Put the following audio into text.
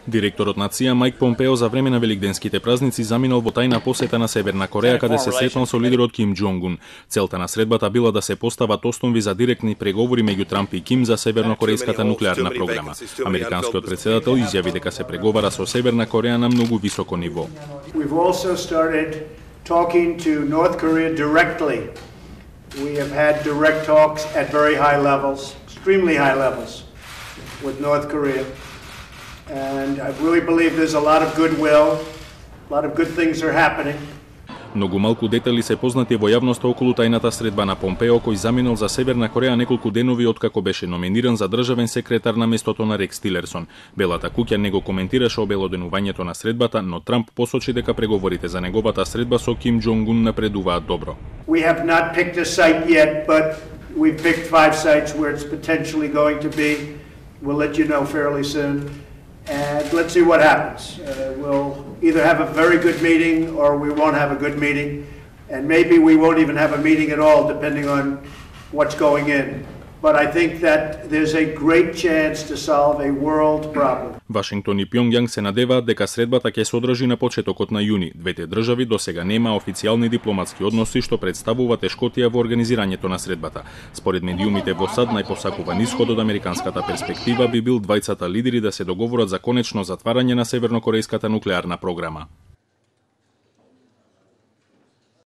Директорот на ЦИА Мајк Помпео за време на великденските празници заминал во тајна посета на Северна Кореја, каде се сретнал со лидерот Ким Џонг Ун. Целта на средбата била да се постават основи за директни преговори меѓу Трамп и Ким за севернокорејската нуклеарна програма. Американскиот претседател изјави дека се преговара со Северна Кореја на многу високо ниво. We've also started talking to North Korea directly. We have had direct talks at very high levels, extremely high levels, with North Korea. And I really believe there's a lot of goodwill, a lot of good things are happening. Многу малку детали се познати во јавноста околу тајната средба на Помпео, кој заминал за Северна Кореја неколку денови откако беше номиниран за државен секретар на местото на Рекс Тилерсон. Белата куќа не го коментираше обелоденувањето на средбата, но Трамп посочи дека преговорите за неговата средба со Ким Џонг Ун напредуваат добро. We have not picked a site yet, but we've picked 5 sites where it's potentially going to be. We'll let you know fairly soon. And let's see what happens. We'll either have a very good meeting or we won't have a good meeting. And maybe we won't even have a meeting at all, depending on what's going in. But I think that there's a great chance to solve a world problem. Вашингтон и Пјонгјанг се надеваат дека средбата ќе се одржи на почетокот на јуни. Двете држави досега нема официјални дипломатски односи, што представува тешкотија во организирањето на средбата. Според медиумите во САД, најпосакуван исход од американската перспектива би бил двајцата лидери да се договорат за конечно затварање на севернокорејската нуклеарна програма.